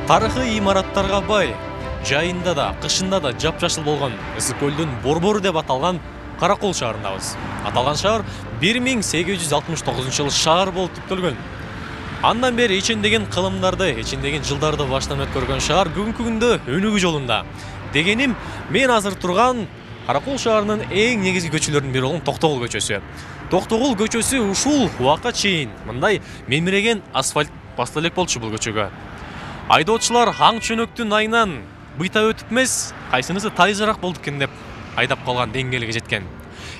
Тарыхый имараттарга бай, жайында да, кышында да жапжашыл болгон Ысык көлдүн борбору деп аталган Каракол шаарындабыз. Аталган шаар 1869 шаар болуп түптөлгөн. Андан бери ичиндеген кылымдарды, ичиндеген жылдарды баштан өткөргөн шаар бүгүнкү күндө өнүгүү жолунда. Дегеним, мен азыр турган Каракол шаарынын эң негизги көчөлөрүнүн бири болгон Токтогул көчөсү. Токтогул көчөсү ушул убакка чейин мындай мемиреген асфальт басты элек болчу бул көчөгө. Айдоочулар аң чөнөктүн айынан быйта өтүп эмес, кайсынысы тайзыраак болду экен деп айдап калган деңгээлге жеткен.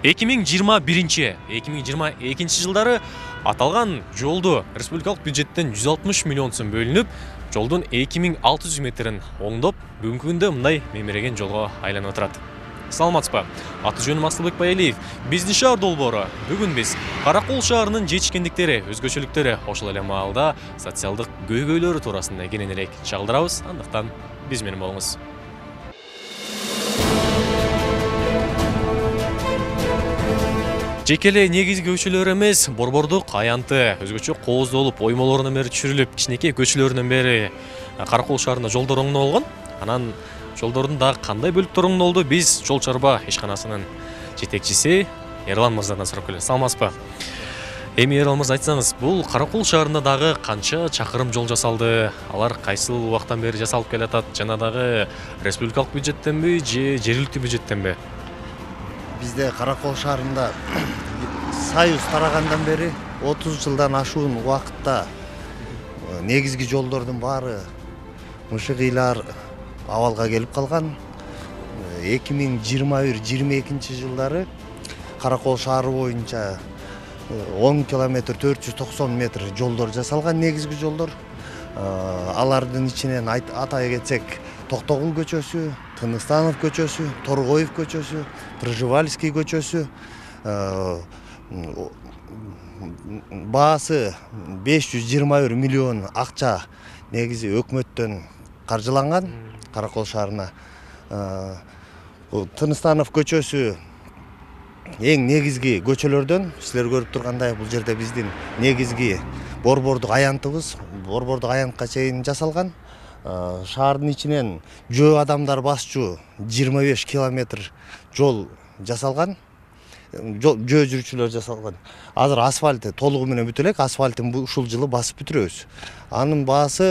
2021-2022 жылдары аталган жолду республикалык бюджеттен 160 миллион сом бөлүнүп, жолдун 2600 метрин оңдоп, бүгүнкү күндө мындай мемиреген жолго айланып отурат. Саламатсызбы? Аты жөнүм Асылбек Байалиев. Биздин шаар долбоору. Бүгүн биз Каракол шаарынын жетишкендиктери, өзгөчөлүктөрү, ошол эле маалда социалдык көйгөйлөрү туурасында кенен элек чагылдырабыз. Андыктан биз менен болуңуз. Жеке эле негизги көчөлөр эмес, борбордук аянты, өзгөчө кооздолуп, оймолорунан бери түшүрүлүп, кичинекей көчөлөрүнөн бери Каракол шаарында жолдор оңдолгон. Анан жолдордун дагы кандай бөлүктөрү оңдолду, биз жол чарба ишканасынын жетекчиси Эрлан мырзадан сурап келебиз. Саламатсызбы? Эми Эрлан мырза, айтсаңыз, бул Каракол шаарында дагы канча чакырым жол жасалды? Алар кайсыл убактан бери жасалып келатат? Жана дагы республикалык бюджеттенби же жергиликтүү бюджеттенби? Бизде Каракол шаарында Союз тарагандан бери 30 жылдан ашуун убакытта негизги жолдордун баары мышыгыйлар абалга келип калган. 2021-22 жылдары Каракол шаары боюнча 10 километр 490 метр жолдор жасалган, негизги жолдор. Алардын ичинен атай кетсек, Токтогул көчөсү, Тыныстанов көчөсү, Торгоев көчөсү, Пржевальский көчөсү, баасы 521 миллион акча негизи өкмөттөн каржыланган Каракол шаарына. Тыныстанов көчөсү эң негизги көчөлөрдөн. Силер көрүп тургандай, бул жерде биздин негизги борбордук аянтыбыз, борбордук аянтка чейин жасалган. Шаардын ичинен жөө адамдар басчу 25 километр жол жасалган. Жөө жүрүүчүлөр жасалган. Азыр асфальты толугу менен бүтө элек, асфальтын ушул жылы басып бүтүрөбүз. Анын баасы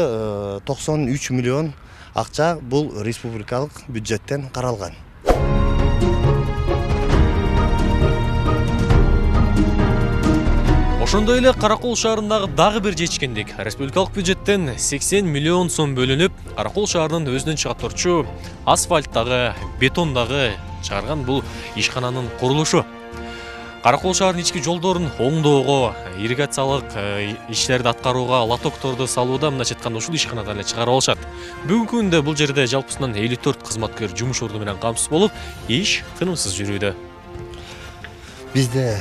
93 миллион акча, бул республикалык бюджеттен каралган. Ошондой эле Каракол шаарындагы дагы бир жетишкендик. Республикалык бюджеттен 80 миллион сом бөлүнүп, Каракол шаарынын өзүнөн чыга турчу асфальттагы, бетондагы чыгарган бул ишкананын курулушу. Каракол шаарынын ички жолдорун оңдоого, ирригациялык иштерди аткарууга, лотокторду салууда мындайча айтканда ушул ишканада эле чыгарып алышат. Бүгүнкү күндө бул жерде жалпысынан 54 кызматкер жумуш орду менен камсыз болуп, иш тынымсыз жүрүүдө. Бизде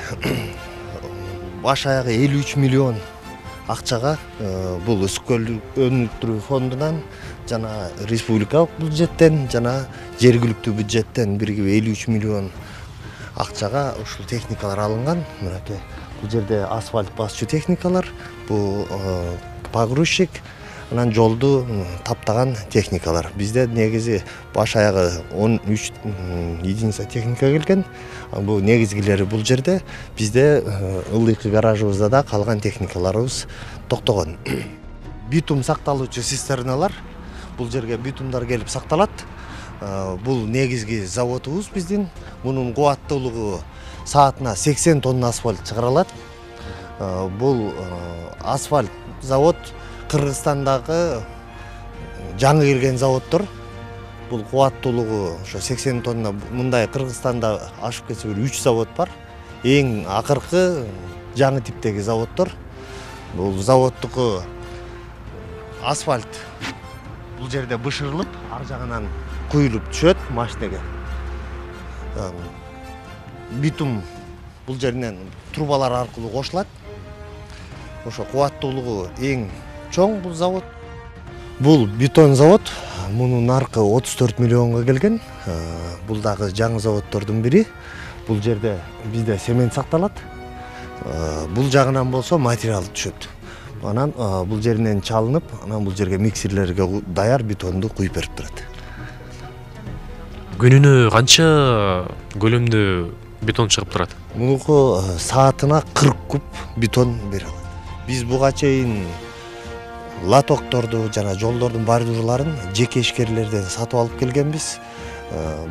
баш аягы 53 миллион акчага бул Ысык көл өнүктүрүү фондунан жана республикалык бюджеттен жана жергиликтүү бюджеттен биригип 53 миллион акчага ушул техникалар алынган. Мынакей бул жерде асфальт басчу техникалар, бул погрузчик, анан жолду таптаган техникалар. Бизде негизи баш аягы 13 единица техника келген. Бул негизгилери бул жерде. Бизде ылдыйкы гаражыбызда да калган техникаларыбыз токтогон. Битум сакталуучу цистерналар, бул жерге битумдар келип сакталат. Бул негизги заводубуз биздин. Мунун кубаттуулугу саатына 80 тонна асфальт чыгарылат. Бул асфальт завод Кыргызстандагы жаңы келген заводдор. Бул кубаттуулугу ошо 80 тонна. Мындай Кыргызстанда ашып кетсе 3 завод бар. Эң акыркы жаңы типтеги заводдор. Бул заводдуку асфальт бул жерде бышырылып, ар жагынан куюлуп түшөт машинеге. Битум бул жеринен трубалар аркылуу кошулат. Ошо кубаттуулугу эң чоң бул завод. Бул бетон завод. Мунун наркы 34 миллионго келген. Бул дагы жаңы заводдордун бири. Бул жерде бизде цемент сакталат. Бул жагынан болсо материал түшөт. анан бул жеринен чалынып, анан бул жерге миксерлерге даяр бетонду куюп берип турат. Күнүнө канча көлөмдө бетон чыгып турат? Мунуку саатына 40 куб бетон бере алат. Биз буга чейин лотокторду жана жолдордун бордюрларын жеке ишкерлерден сатып алып келгенбиз.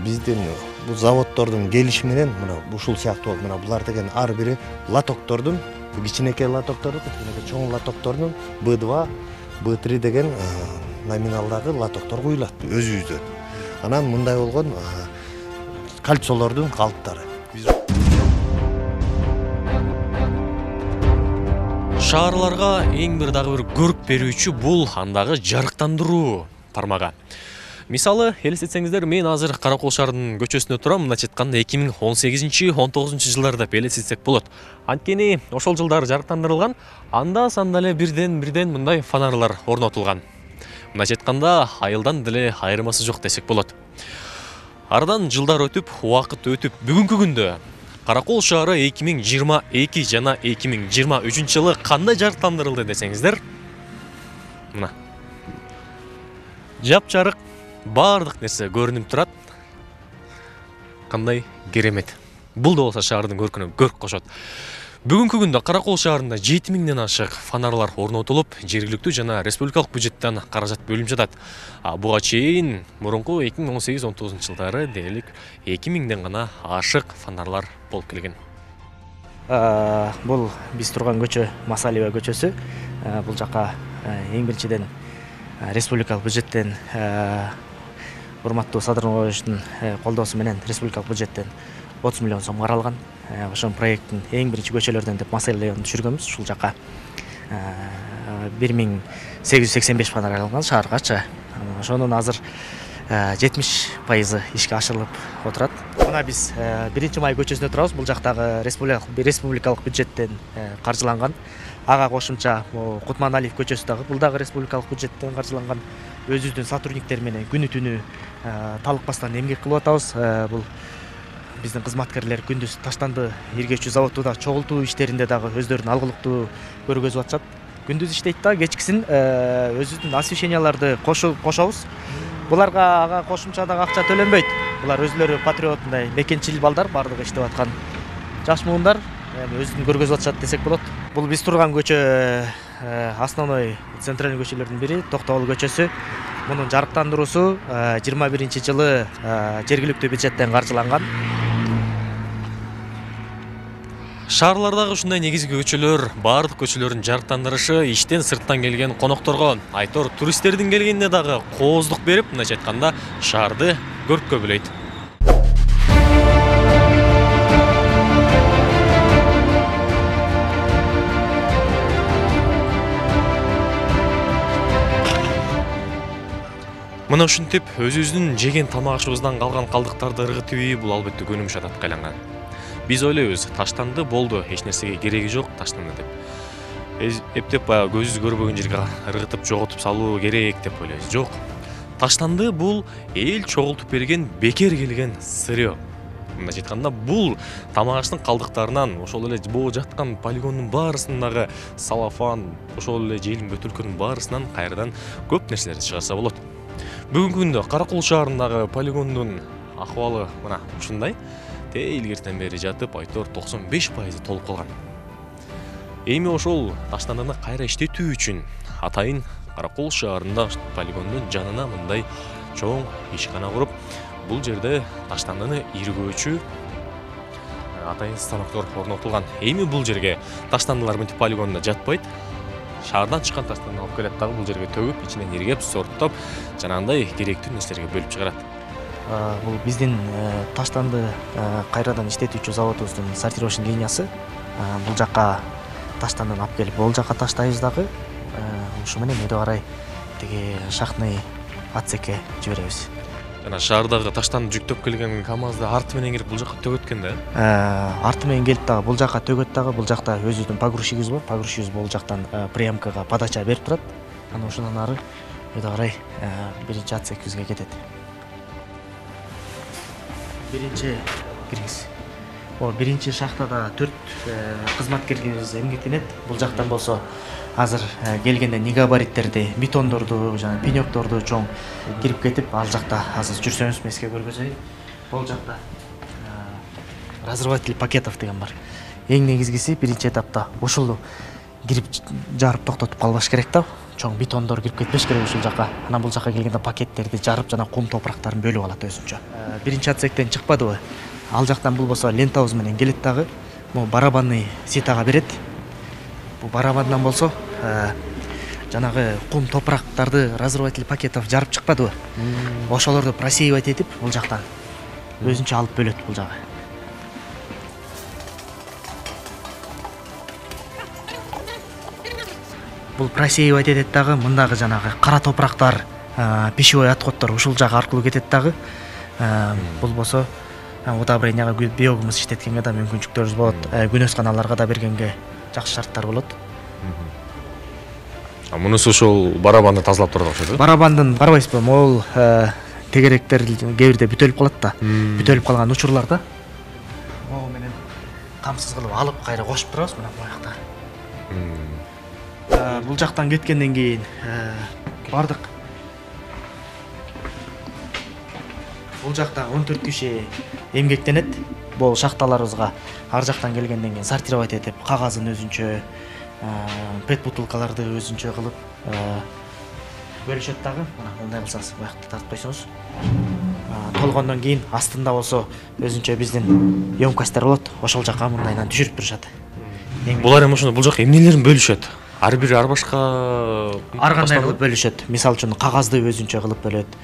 Биздин бул заводдордун келиши менен мына ушул сыяктуу мына булар деген ар бири лотоктордун, кичинекей лотоктордун, чоң лотоктордун B2, B3 деген номиналдагы лотоктор куюлат өзүбүздөн. Анан мындай болгон кольцолордун калыптары. Шаарларга эң бир дагы бир көрк берүүчү бул андагы жарыктандыруу тармагы. Мисалы, элестетсеңиздер, мен азыр Каракол шаарынын көчөсүндө турам. Мындайча айтканда 2018-19 жылдарда элестетсек болот. Анткени ошол жылдары жарыктандырылган, анда санда эле бирден мындай фонарлар орнотулган. Мындайча айтканда, айылдан деле айырмасы жок десек болот. Ардан жылдар өтүп, убакыт өтүп, бүгүнкү күндө Каракол шаары 2022 жана 2023 жылы кандай жарыктандырылды десеңиздер, мына жап-жарык баардык нерсе көрүнүп турат. Кандай керемет. Бул да болсо шаардын көркүнө көрк кошот. Бүгүнкү күндө Каракол шаарында 7000ден ашык фонарлар орнотулуп, жергиликтүү жана республикалык бюджеттен каражат бөлүнүп жатат. Буга чейин мурунку 2018-19 жылдары дээрлик 2000ден гана ашык фонарлар болуп келген. Бул биз турган көчө Масалиева көчөсү. Бул жака эң биринчиден республикалык бюджеттен урматтуу Садыр Нурбаевичтин колдоосу менен республикалык бюджеттен 30 миллион сом каралган. Ошол проекттин эң биринчи көчөлөрдөн деп Масалиеваны түшүргөнбүз. Ушул жака 1885 фонарь алынган шааргачы. Ошонун азыр 70% ишке ашырылып отурат. Мына биз 1 май көчөсүндө турабыз. Бул жактагы республикалык бюджеттен каржыланган. Ага кошумча Кутманалиев көчөсү дагы бул дагы республикалык бюджеттен каржыланган. Өзүбүздүн сотрудниктер менен күнү-түнү талыкпастан эмгек кылып атабыз. Бул биздин кызматкерлер күндүз таштанды иргечүү заводуда чогултуу иштеринде дагы өздөрүнүн алгылыктуу көргөзүп атышат. Күндүз иштейт да, кечкисин өзүбүздүн освещенияларды кошобуз. Буларга ага кошумча дагы акча төлөнбөйт. Булар өзүлөрү патриот, мындай мекенчил балдар, бардыгы иштеп аткан жаш муундар өзүн көргөзүп атышат десек болот. Бул биз турган көчө основной центральный көчөлөрдүн бири Токтогул көчөсү. Мунун жарыктандыруусу 21-жылы жергиликтүү бюджеттен каржыланган. Шаарлардагы ушундай негизги көчөлөр, баардык көчөлөрдүн жарыктандырышы иштен сырттан келген конокторго, айтор туристтердин келгенине дагы кооздук берип, мындайча айтканда, шаарды көрккө бөлөйт. Мына ушинтип өзүбүздүн жеген тамак ашыбыздан калган калдыктарды ыргытып, бул албетте көнүмүш адатка айланган. Биз ойлойбуз, таштанды болду, эч нерсеге кереги жок таштанды деп. Эптеп көзүбүз көрбөгөн жерге ыргытып жоготуп салуу керек деп ойлойбуз. Жок. Таштанды бул эл чогултуп берген, бекер келген сырьё. Мындайча айтканда, бул тамак аштын калдыктарынан, ошол эле боо жаткан полигондун баарысындагы салафан, ошол эле желим бөтөлкөнүн баарысынан кайрадан көп нерселерди чыгарса болот. Бүгүнкү күндө Каракол шаарындагы полигондун акыбалы мына ушундай. Илгертен бери жатып, айтор 95% толуп калган. Эми ошол таштандыны кайра иштетүү үчүн атайын Каракол шаарында полигондун жанына мындай чоң ишкана куруп, бул жерде таштандыны иргөөчү атайын станоктор орнотулган. Эми бул жерге таштандылар мынтип полигонда жатпайт. Шаардан чыккан таштандыны алып келет дагы бул жерге төгүп, ичинен иргеп, сорттоп, жанагындай керектүү нерселерге бөлүп чыгарат. Бул биздин таштанды кайрадан иштетүүчү заводубуздун сортировочный линиясы. Бул жака таштандыны алып келип, бул жака таштайбыз дагы. Ушу менен өйдө карай тиги шахтный отсекке жиберебиз. Жана шаардагы таштанды жүктөп келген КАМАЗды арты менен кирип бул жака төгөткөн да? Арты менен келип дагы бул жака төгөт дагы. Бул жакта өзүбүздүн погрузчигибиз бар. Погрузчигибиз бул жактан приемкага подача берип турат. Анан ошондон ары өйдө карай биринчи отсекибизге кетет. Биринчи киргиз. биринчи шахтада 4 кызматкерибиз эмгектенет. Бул жактан болсо азыр келгенде негабариттерди, бетондорду, жана пенёкторду чоң кирип кетип, ал жакта азыр жүрсөңүз меске көргөзөйүн. Бул жакта разрыватель пакетов деген бар. Эң негизгиси биринчи этапта ушул кирип жарып токтотуп калбаш керек да. Чоң бетондор кирип кетпеш керек ушул жака. Анан бул жака келгенде пакеттерди жарып жана кум топурактарын бөлүп алат өзүнчө. Биринчи отсектен чыкпадыбы? Ал жактан бул болсо лентабыз менен келет дагы. Бул барабанный ситага берет. Бул барабандан болсо жанагы кум топурактарды разрыватель пакетов жарып чыкпадыбы? Ошолорду просеивать этип бул жактан өзүнчө алып бөлөт бул жагы. Бул просеивать этет дагы, мындагы жанагы кара топурактар, пищевой отходдор ушул жак аркылуу кетет дагы. Бул болсо удобренияга биогумус иштеткенге да мүмкүнчүлүктөрүбүз болот. Күнөс каналарга да бергенге жакшы шарттар болот. Мунусу ушул барабанды тазалап турат окшойт. Барабандын карабайсызбы? Могул тегеректер кээ бирде бүтөлүп калат да. Бүтөлүп калган учурларда могу менен камсыз кылып алып кайра кошуп турабыз мына бул жакта. Бул жактан кеткенден кийин бардык бул жакта 14 киши эмгектенет. Бул шахталарыбызга ар жактан келгенден кийин сортировать этип, кагазын өзүнчө, пет бутылкаларды өзүнчө кылып бөлүшөт дагы. Мына мындай кылсаңыз буякты тартып койсоңуз. Толгондон кийин астында болсо өзүнчө биздин емкосттер болот. Ошол жака мындайдан түшүрүп турушат. Булар эми ошондо бул жака эмнелерин бөлүшөт? Ар бири ар башка ар кандай кылып бөлүшөт. Мисалы үчүн кагазды өзүнчө кылып бөлөт,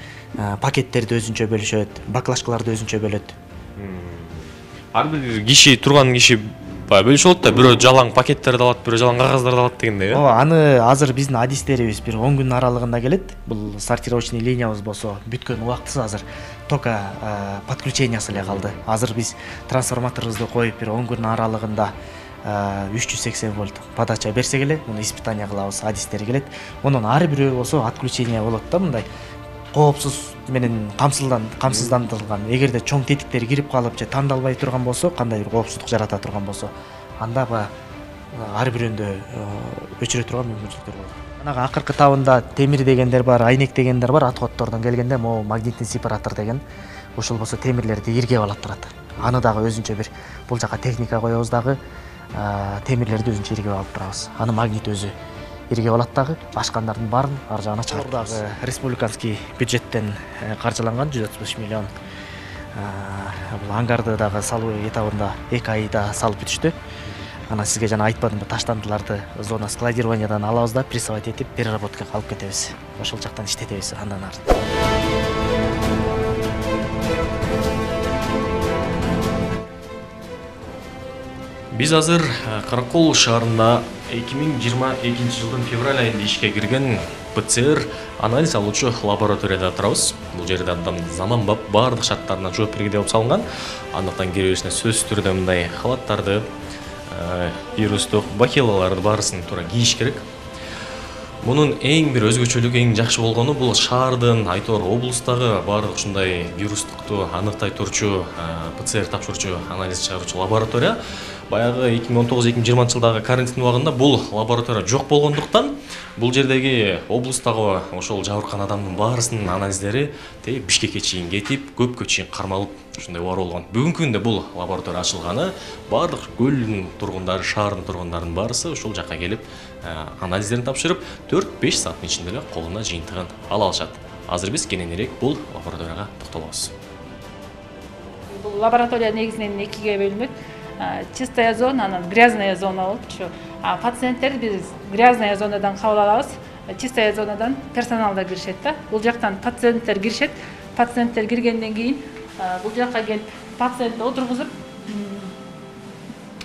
пакеттерди өзүнчө бөлүшөт, баклажкаларды өзүнчө бөлөт. Ар бир киши турган киши бөлүшүп алат да, бирөө жалаң пакеттерди алат, бирөө жалаң кагаздарды алат дегендей, э? Ооба, аны азыр биздин адистерибиз бир 10 күн аралыгында келет. Бул сортировочный линиябыз болсо бүткөн убактысы азыр только подключениясы эле калды. Азыр биз трансформаторубузду коюп бир 10 күн аралыгында 380 вольт подача берсек эле, муну испытание кылабыз, адистер келет. Онун ар бирөө болсо отключение болот да, мындай коопсуз менен камсыздандырылган. Эгерде чоң тетиктер кирип калып же тандалбай турган болсо, кандай бир коопсуздук жарата турган болсо, анда ар бирөөндө өчүрө турган мүмкүнчүлүктөр болот. Манагы акыркы табында темир дегендер бар, айнек дегендер бар. Отходдордон келгенде могу магнитный сепаратор деген ушул болсо темирлерди иргеп алат турат. Аны дагы өзүнчө бир бул жака техника коебуз дагы, темирлерди өзүнчө иргеп алып турабыз. Аны магнит өзү иргеп алат дагы, ашкандардын баарын ар жагына чыгарып дагы. Республиканский бюджеттен каржыланган 135 миллион. Бул ангарды дагы салуу этабында 2 айда салып бүтүштү. Анан сизге жана айтпадымбы, таштандыларды зона складированиядан алабыз да прессовать этип переработкага алып кетебиз. Ошол жактан иштетебиз андан ары. Биз азыр Каракол шаарында 2022 жылдын февраль айында ишке кирген ПЦР анализ алуучу лабораторияда турабыз. Бул жерде абдан заманбап баардык шарттарына жооп бергендей болуп салынган. Андыктан киребесине сөзсүз түрдө мындай халаттарды, вирустук бакилаларды баарысын туура кийиш керек. Мунун эң бир өзгөчөлүгү, эң жакшы болгону бул шаардын, айтор облустагы баардык ушундай вирустукту аныктай турчу ПЦР тапшырчу, анализ чыгаруучу лаборатория баягы 2019-2020 жылдагы карантин убагында бул лаборатория жок болгондуктан бул жердеги облустагы ошол жабыркан адамдын баарысынын анализдери Бишкекке чейин кетип, көпкө чейин кармалып ушундай убар болгон. Бүгүнкү күндө бул лаборатория ачылганы, баардык көлдүн тургундары, шаардын тургундарынын баарысы ушул жакка келип анализдерин тапшырып, 4-5 сааттын ичинде эле колуна жыйынтыгын ала алышат. Азыр биз кененирээк бул лабораторияга токтолобуз. Бул лаборатория негизинен экиге бөлүнөт. Чистая зона, анан грязная зона болуп ушу. Пациенттерди биз грязная зонадан кабыл алабыз. Чистая зонадан персоналдар киришет да. Бул жактан пациенттер киришет. Пациенттер киргенден кийин бул жакка келип пациентти отургузуп,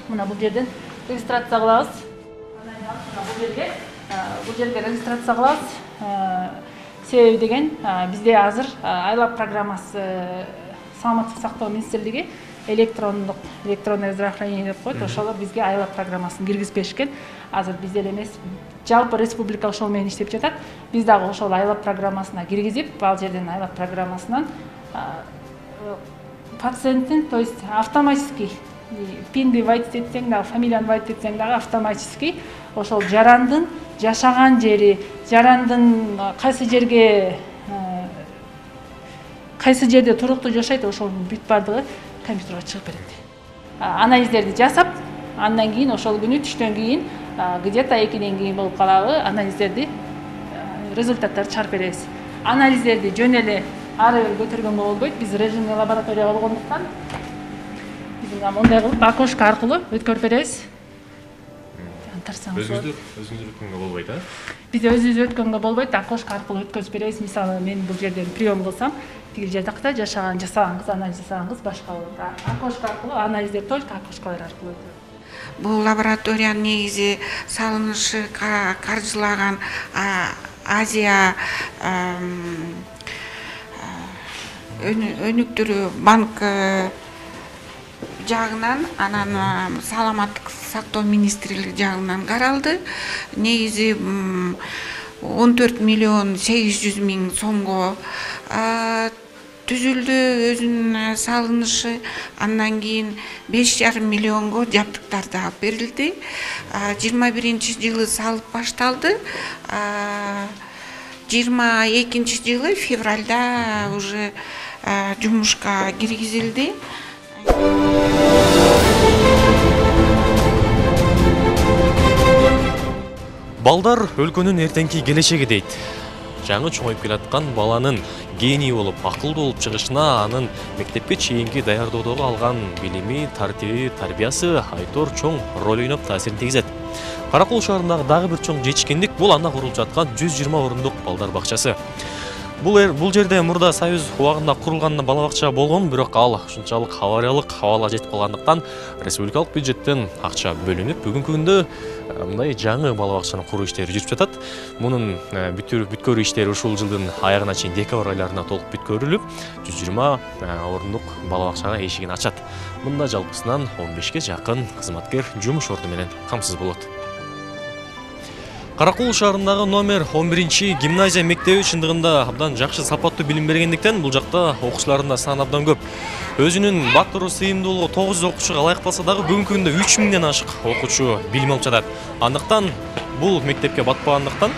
мына бул жерден регистрация кылабыз. Бул жерге регистрация кылабыз. Себеби деген бизде азыр айлап программасы Саламаттык сактоо министрлиги электронное здравоохранение деп коет. Ошолор бизге айлап программасын киргизбешкен. Азыр бизде эле эмес, жалпы республика ошол менен иштеп жатат. Биз дагы ошол айлап программасына киргизип, ал жерден айлап программасынан пациенттин, то есть автоматически пинди вайт этсең дагы, фамилияны вайт этсең дагы автоматически ошол жарандын жашаган жери, жарандын кайсы жерде туруктуу жашайт, ошонун бүт бардыгы компьютерге чыгып берет. Анализдерди жасап, андан кийин ошол күнү түштөн кийин где-то 2ден кийин болуп калабы, анализдерди результаттарды чыгарып беребиз. Анализдерди жөн эле ары бери көтөргөнгө болбойт. Биз режимный лаборатория болгондуктан биз мындай кылып окошко аркылуу өткөрүп беребиз. Өзүңүздөр өткөнгө болбойт, а? Биз өзүбүз өткөнгө болбойт, окошко аркылуу өткөзүп беребиз. Мисалы, мен бул жерден прием кылсам, тиги жакта жасаган кыз, анализ жасаган кыз башка болот. Окошко аркылуу анализдер только окошколор аркылуу өтөт. Бул лабораториянын негизи салынышы каржылаган Азия өнүктүрүү банк жагынан, анан саламаттык сактоо министрлиги жагынан каралды. Негизи 14 миллион 800 миң сомго түзүлдү өзүнүн салынышы. Андан кийин 5,5 миллионго жабдыктарды алып берилди. 21-жылы салып башталды. 22-жылы февралда уже жумушка киргизилди. Балдар өлкөнүн эртеңки келечеги дейт. Жаңы чоңоюп келаткан баланын гений болуп, акылдуу болуп чыгышына анын мектепке чейинки даярдоодогу алган билими, тартиби, тарбиясы айтор чоң роль ойноп таасирин тийгизет. Каракол шаарындагы дагы бир чоң жетишкендик бул анда курулуп жаткан 120 орундук балдар бакчасы. Бул жерде мурда Союз убагында курулган бала бакча болгон, бирок ал ушунчалык авариялык абалга жетип калгандыктан республикалык бюджеттен акча бөлүнүп, бүгүнкү күндө мындай жаңы бала бакчанын куруу иштери жүрүп жатат. Мунун бүткөрүү иштери ушул жылдын аягына чейин декабрь айларына толук бүткөрүлүп, 120 орундук бала бакчага эшигин ачат. Мында жалпысынан 15ке жакын кызматкер жумуш орду менен камсыз болот. Каракол шаарындагы номер 11 гимназия мектеби чындыгында абдан жакшы сапаттуу билим бергендиктен бул жакта окуучулардын да саны абдан көп. Өзүнүн баттыруу сыйымдуулугу 900 окуучуга ылайык болсо дагы бүгүнкү күндө 3000ден ашык окуучу билим алып жатат. Андыктан бул мектепке батпагандыктан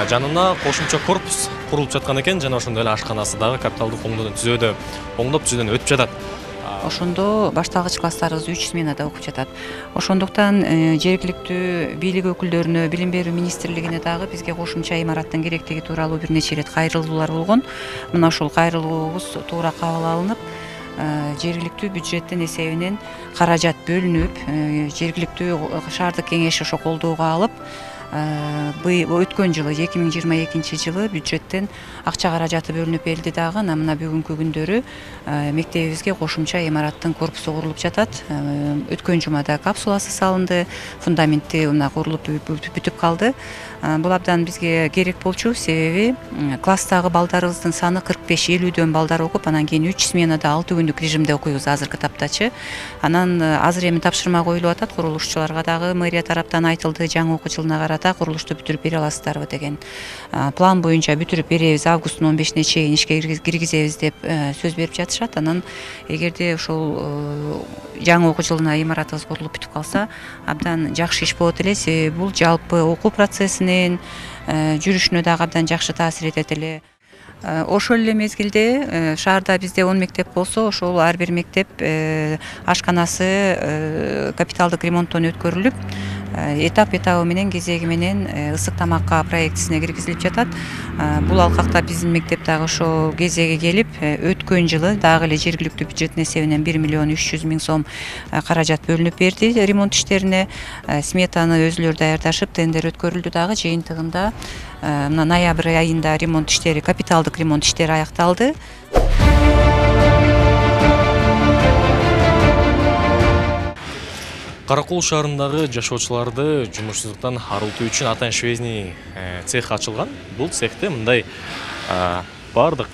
жанына кошумча корпус курулуп жаткан экен, жана ошондой эле ашканасы дагы капиталдык оңдоп түзөөдөн өтүп жатат. Ошондо башталгыч класстарыбыз 3 сменада окуп жатат. Ошондуктан жергиликтүү бийлик өкүлдөрүнө, билим берүү министрлигине дагы бизге кошумча имараттын керектиги тууралуу бир нече ирет кайрылуулар болгон. Мына ушул кайрылуубуз туура кабыл алынып, жергиликтүү бюджеттин эсебинен каражат бөлүнүп, жергиликтүү шаардык кеңеш ошо колдоого алып, өткөн жылы 2022 жылы бюджеттен акча каражаты бөлүнүп берилди дагы. Мына бүгүнкү күндөрү мектебибизге кошумча имараттын корпусу курулуп жатат. Өткөн жумада капсуласы салынды, фундаменти мына курулуп бүтүп калды. Бул абдан бизге керек болчу, себеби класстагы балдарыбыздын саны 45-50дөн балдар окуп, анан кийин 3 сменада 6 күндүк режимде окуйбуз азыркы таптачы. Анан азыр эми тапшырма коюлуп атат, курулушчуларга дагы мэрия тараптан айтылды, жаңы окуу жылына карата курулушту бүтүрүп бере аласыздарбы деген. План боюнча бүтүрүп беребиз, августтун 15-ине чейин ишке киргизебиз деп сөз берип жатышат. Анан эгерде ошол жаңы окуу жылына имаратыбыз курулуп бүтүп калса, абдан жакшы иш болот эле, себеби бул жалпы окуу процессине жүрүшүнө дагы абдан жакшы таасир этет эле. Ошол эле мезгилде шаарда бизде 10 мектеп болсо, ошол ар бир мектеп ашканасы капиталдык ремонттон өткөрүлүп, этабы менен кезеги менен ысык тамакка проектисине киргизилип жатат. Бул алкакта биздин мектеп дагы ошо кезеги келип, өткөн жылы дагы эле жергиликтүү бюджеттин эсебинен 1 миллион 300 миң сом каражат бөлүнүп берди ремонт иштерине. Сметаны өзүлөрү даярдашып, тендер өткөрүлдү дагы. Жыйынтыгында мына ноябрь айында ремонт иштери, капиталдык ремонт иштери аякталды. Каракол шаарындагы жашоочуларды жумушсуздуктан арылтуу үчүн атан швейный цех ачылган. Бул цехте мындай бардык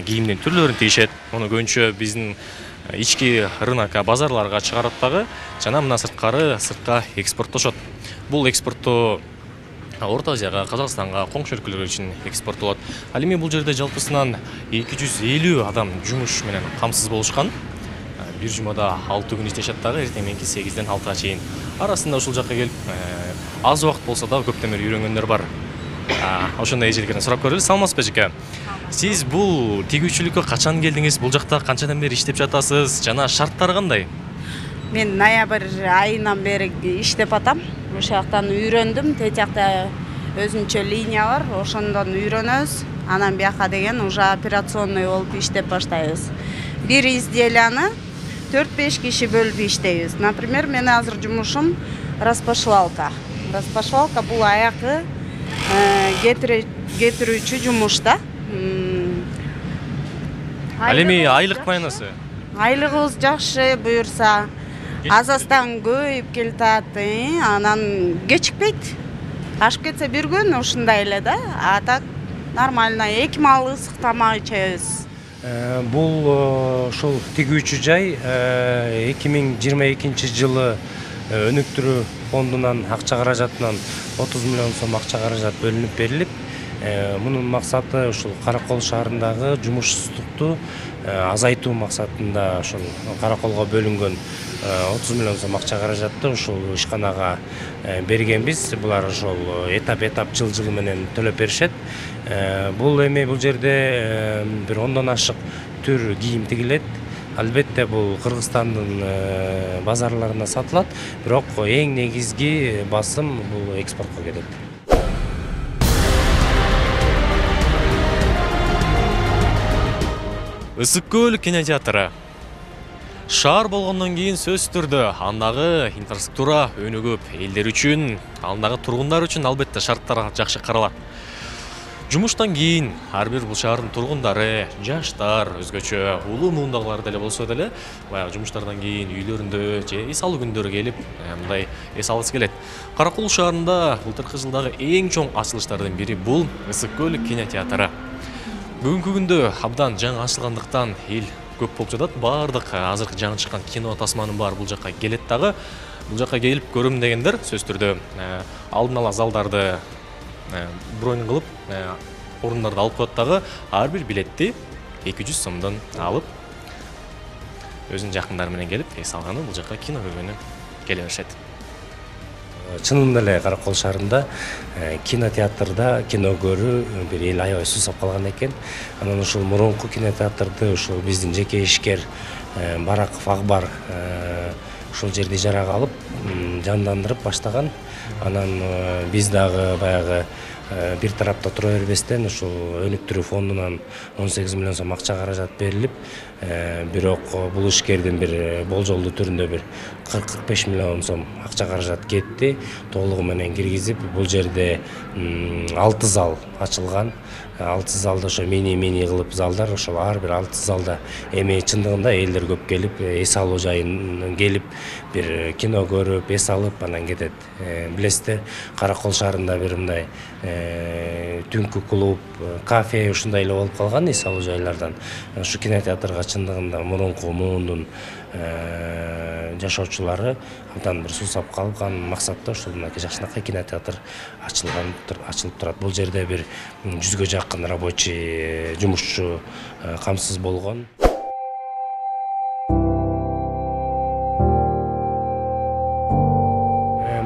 кийимдин түрлөрүн тигишет. Муну көбүнчө биздин ички рынокко, базарларга чыгарат дагы, жана мына сыртка экспорттошот. Бул экспорттоо Орто Азияга, Казакстанга, коңшу өлкөлөр үчүн экспорттолот. Ал эми бул жерде жалпысынан 250 адам жумуш менен камсыз болушкан. бир жумада 6 күн иштешет дагы, эртең мененки 8-ден 6-га чейин. Арасында ушул жакка келип, аз убакыт болсо дагы көптөн бери үйрөнгөндөр бар. Ошондой эжеликтерден сурап көрөлү. Саламатсызбы эжеке? Сиз бул тигүүчүлүккө качан келдиңиз? Бул жакта канчадан бери иштеп жатасыз? Жана шарттары кандай? Мен ноябрь айынан бери иштеп атам. Ошол жактан үйрөндүм. Тет жакта өзүнчө линия бар, ошондон үйрөнөбүз. Анан бияка деген уже операционный болуп иштеп баштайбыз. Бир изделияны 4-5 киши бөлүп иштейбиз. Например, мен азыр жумушум распашивалка. Распашивалка бул аякы кетирүүчү жумуш да. Ал эми айлык майнасы? Айлыгыбыз жакшы буюрса. Азастан көйүп келатат, анан кечикпейт. Ашып кетсе бир күн ушундай эле да. А так нормально. 2 мал ысык тамак ичебиз. Бул ошол тигүүчү жай 2022 жылы өнүктүрүү фондунан акча каражатынан 30 миллион сом акча каражат бөлүнүп берилип, мунун максаты ушул Каракол шаарындагы жумушсуздукту азайтуу максатында ошол Караколго бөлүнгөн 30 миллион сом акча каражатты ушул ишканага бергенбиз. Булар ошол этап жыл менен төлөп беришет. Бул эми бул жерде бир 10дон ашык түр кийим тигилет. Албетте бул Кыргызстандын базарларына сатылат, бирок эң негизги басым бул экспортко кетет. Ысык көл кинотеатры. Шаар болгондон кийин сөзсүз түрдө андагы инфраструктура өнүгүп, элдер үчүн, андагы тургундар үчүн албетте шарттар жакшы каралат. Жумуштан кийин ар бир бул шаардын тургундары, жаштар, өзгөчө улуу муундагылар деле болсо деле, баягы жумуштардан кийин үйлөрүндө же эс алуу күндөрү келип, мындай эс алгысы келет. Каракол шаарында былтыркы жылдагы эң чоң ачылыштардын бири бул Ысык көл кинотеатры. Бүгүнкү күндө абдан жаңы ачылгандыктан эл көп болуп жатат. Бардык азыркы жаңы чыккан кино тасманын баары бул жакка келет дагы. Бул жакка келип көрөм дегендер сөзсүз түрдө алдын ала залдарды бронь кылып, орундарды алып коет дагы. Ар бир билетти 200 сомдон алып, өзүнүн жакындары менен келип, эс алганы бул жакка кино көргөнү келе беришет. Чынында эле Каракол шаарында кинотеатрда кино көрүү бир эл аябай суусап калган экен. Анан ушул мурунку кинотеатрды ушул биздин жеке ишкер Бараков Акбар ушул жерди ижарага алып, жандандырып баштаган. Анан биз дагы баягы бир тарапта тура бербестен ушул өнүктүрүү фондунан 18 миллион сом акча каражат берилип, бирок бул ишкердин бир болжолдуу түрүндө бир 40-45 миллион сом акча каражат кетти. Толугу менен киргизип, бул жерде 6 зал ачылган. 6 залда ошо мини кылып залдар, ошол ар бир 6 залда эми чындыгында элдер көп келип, эс алуу жайын келип, бир кино көрүп, эс алып анан кетет. Билесиздер, Каракол шаарында бир мындай түнкү клуб, кафе ушундай эле болуп калган эс алуу жайлардан. Ушу кинотеатрга чындыгында мурунку муундун жашоочулары абдан бир суусап калган максатта ушул мынакей жакшынакай кинотеатр ачылып турат. Бул жерде бир 100гө жакын рабочий жумушчу камсыз болгон.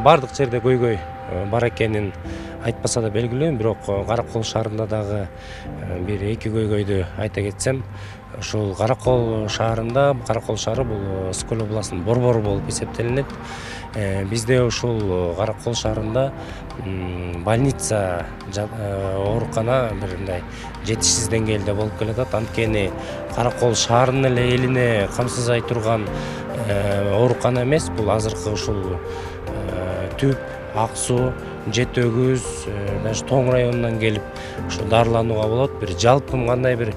Бардык жерде көйгөй бар экенин айтпаса да белгилүү, бирок Каракол шаарында дагы бир 2 көйгөйдү айта кетсем, ушул Каракол шаарында, Каракол шаары бул Ысык көл областынын борбору болуп эсептелинет. Бизде ушул Каракол шаарында больница, оорукана бир мындай жетишсиз деңгээлде болуп келатат. Анткени Каракол шаарынын эле элине камсызай турган оорукана эмес, бул азыркы ушул Түп, Ак суу, Жети өгүз, даже Тоң районунан келип ушу дарыланууга болот. Бир жалпы кандай бир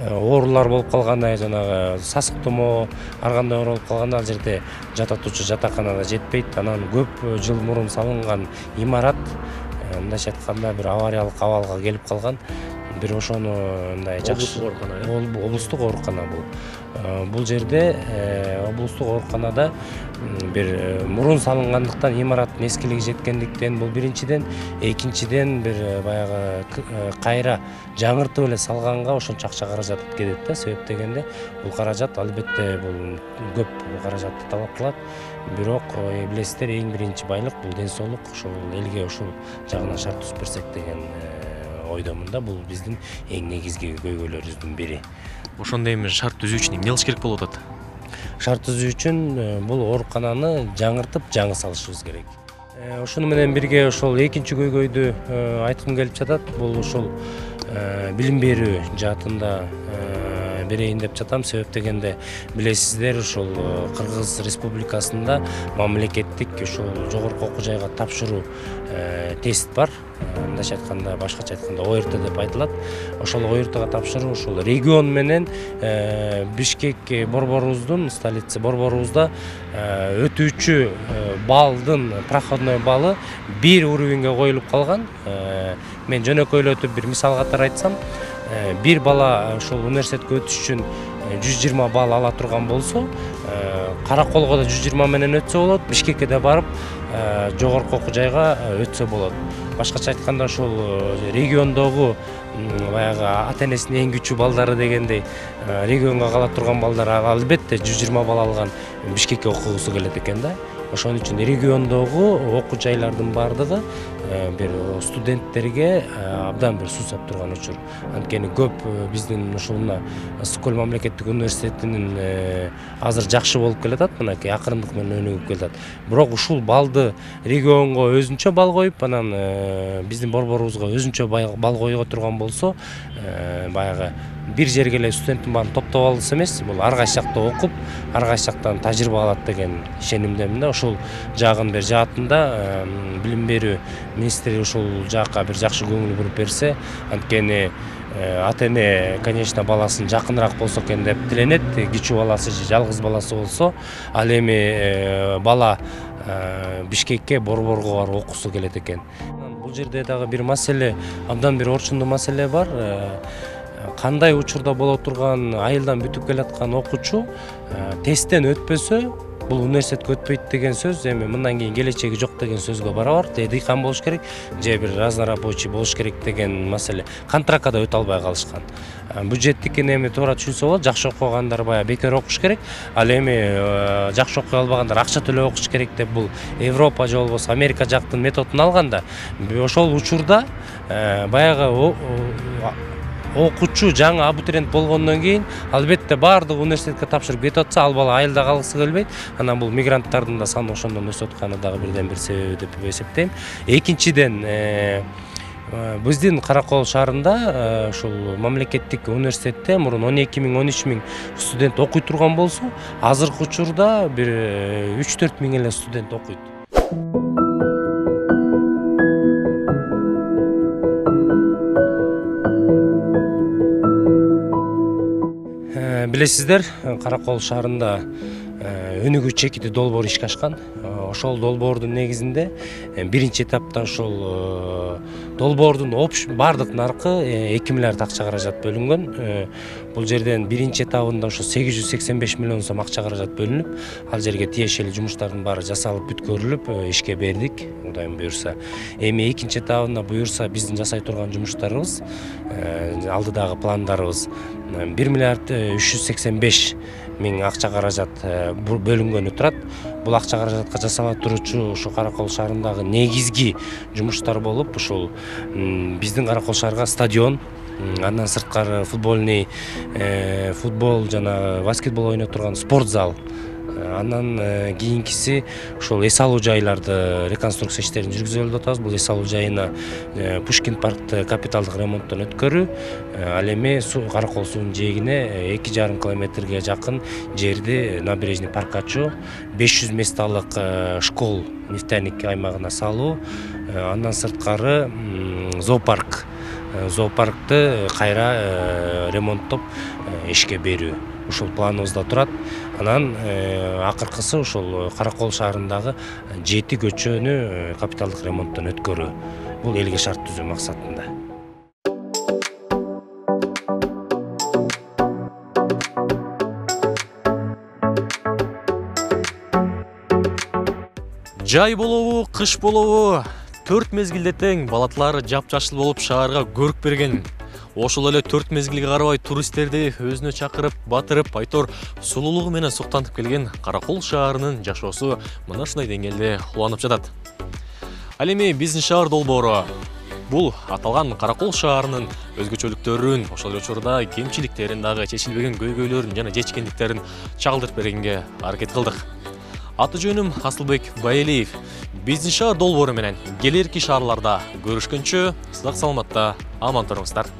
оорулар болуп калганда, жанагы сасык тумоо, ар кандай оор болуп калганда ал жерде жататуучу жатаканада жетпейт. Анан көп жыл мурун салынган имарат мындайча айтканда бир авариялык абалга келип калган. Бир ошону мындай жакшы облустук оорукана бул. Бул жерде облустук ооруканада бир мурун салынгандыктан имараттын эскилиги жеткендиктен бул биринчиден, экинчиден бир баягы кайра жаңыртып эле салганга ошончо акча каражат кетет да. Себеп дегенде бул каражат албетте бул көп каражатты талап кылат. Бирок билесиздер, эң биринчи байлык бул ден соолук, ошол элге ушул жагынан шарт түзүп берсек деген ойдомун да. Бул биздин эң негизги көйгөйлөрүбүздүн бири. Ошондой эми шарт түзүү үчүн эмне кылыш керек болуп атат? Шарт түзүү үчүн бул оорукананы жаңыртып, жаңы салышыбыз керек. Ошону менен бирге ошол экинчи көйгөйдү айткым келип жатат. Бул ушул билим берүү жаатында берейин деп жатам. Себеп дегенде билесиздер, ушул Кыргыз Республикасында мамлекеттик ушул жогорку окуу жайга тапшыруу тест бар. Мындайча айтканда, башкача айтканда ОРТ деп айтылат. Ошол ОРТга тапшыруу ушул регион менен Бишкек борборубуздун, столица борборубузда өтүүчү балдын проходной баллы бир уровеньге коюлуп калган. Мен жөнөкөйлөтүп бир мисал катары айтсам, бир бала ушул университетке өтүш үчүн 120 балл ала турган болсо, Караколго да 120 менен өтсө болот, Бишкекке да барып жогорку окуу жайга өтсө болот. Башкача айтканда, ушул региондогу баягы ата-энесинин эң күчүү балдары дегендей регионго кала турган балдар албетте 120 балл алган Бишкекке окугусу келет экен да. Ошон үчүн региондогу окуу жайлардын бардыгы бир студенттерге абдан бир суусап турган учур. Анткени көп биздин ушул мына Ысык-Көл мамлекеттик университетинин азыр жакшы болуп келатат, мынакей акырындык менен өнүгүп келатат. Бирок ушул баллды регионго өзүнчө балл коюп, анан биздин борборубузга өзүнчө балл койго турган болсо, баягы бир жерге эле студенттин баарын топтоп алгысы эмес, бул ар кайсы жакта окуп, ар кайсы жактан тажрыйба алат деген ишенимдемин да. Ошол жагын бир жаатында билим берүү министри ушул жакка бир жакшы көңүл буруп берсе, анткени ата-эне, конечно, баласын жакыныраак болсо экен деп тиленет. Кичүү баласы же жалгыз баласы болсо, ал эми бала Бишкекке, борборго барып окусу келет экен. Бул жерде дагы бир маселе, абдан бир орчундуу маселе бар. Кандай учурда боло турган, айылдан бүтүп келаткан окуучу тесттен өтпөсө, бул университетке өтпөйт деген сөз эми мындан кийин келечеги жок деген сөзгө барабар. Дыйкан болуш керек, же бир разнорабочий болуш керек деген маселе. Контрактка да өтө албай калышкан. Бюджеттикин эми туура түшүнсө болот, жакшы окугандар баягы бекер окуш керек, ал эми жакшы окуй албагандар акча төлөп окуш керек деп бул Европа же болбосо Америка жактын методун алганда, ошол учурда баягы окуучу жаңы абитуриент болгондон кийин албетте баардык университетке тапшырып кетип атса, ал бала айылда калгысы келбейт. Анан бул мигранттардын да саны ошондон өсүп атканы дагы бирден бир себеби деп эсептейм. Экинчиден, биздин Каракол шаарында ушул мамлекеттик университетте мурун 12 000, 13 000 студент окуй турган болсо, азыркы учурда бир 3-4 000 эле студент окуйт. Билесиздер, Каракол шаарында өнүгүү чекити долбоор ишке ашкан. Ошол долбоордун негизинде биринчи этапта ошол долбоордун бардык наркы 2 миллиард акча каражат бөлүнгөн. Бул жерден биринчи этабында ошо 885 миллион сом акча каражат бөлүнүп, ал жерге тиешелүү жумуштардын баары жасалып бүткөрүлүп ишке бердик, Кудайым буюрса. Эми экинчи этабында буюрса биздин жасай турган жумуштарыбыз, алдыдагы пландарыбыз 1 миллиард 385 миң акча каражат бөлүнгөнү турат. Бул акча каражатка жасала турчу ушу Каракол шаарындагы негизги жумуштар болуп, ушул биздин Каракол шаарга стадион, андан сырткары футбол жана баскетбол ойноо турган спорт зал, андан кийинкиси ушул эс алуу жайларды реконструкция иштерин жүргүзүп атабыз. Бул эс алуу жайына Пушкин паркты капиталдык ремонттон өткөрүү, ал эми Каракол суунун жээгине 2,5 километрге жакын жерди набережный парк ачуу, 500 месталык школ нефтяник аймагына салуу, андан сырткары зоопаркты кайра ремонттоп ишке берүү. Ушул планыбызда турат. Анан акыркысы ушул Каракол шаарындагы 7 көчөнү капиталдык ремонттон өткөрүү. Бул элге шарт түзүү максатында. Жай болобу, кыш болобу, 4 мезгилде тең балатлар жапжашыл болуп шаарга көрүк берген. Ошол эле 4 мезгилге карабай туристтерди өзүнө чакырып, батырып, айтор сулуулугу менен суктантып келген Каракол шаарынын жашоосу мына ушундай деңгээлде уланып жатат. Ал эми биздин шаар долбоору бул аталган Каракол шаарынын өзгөчөлүктөрүн, ошол эле учурда кемчиликтерин дагы чечилбеген көйгөйлөрүн жана жетишкендиктерин чагылдырып бергенге аракет кылдык. Аты жөнүм Асылбек Байелиев. Биздин шаар долбоору менен келерки шаарларда көрүшкөнчө сак саламатта аман туруңуздар.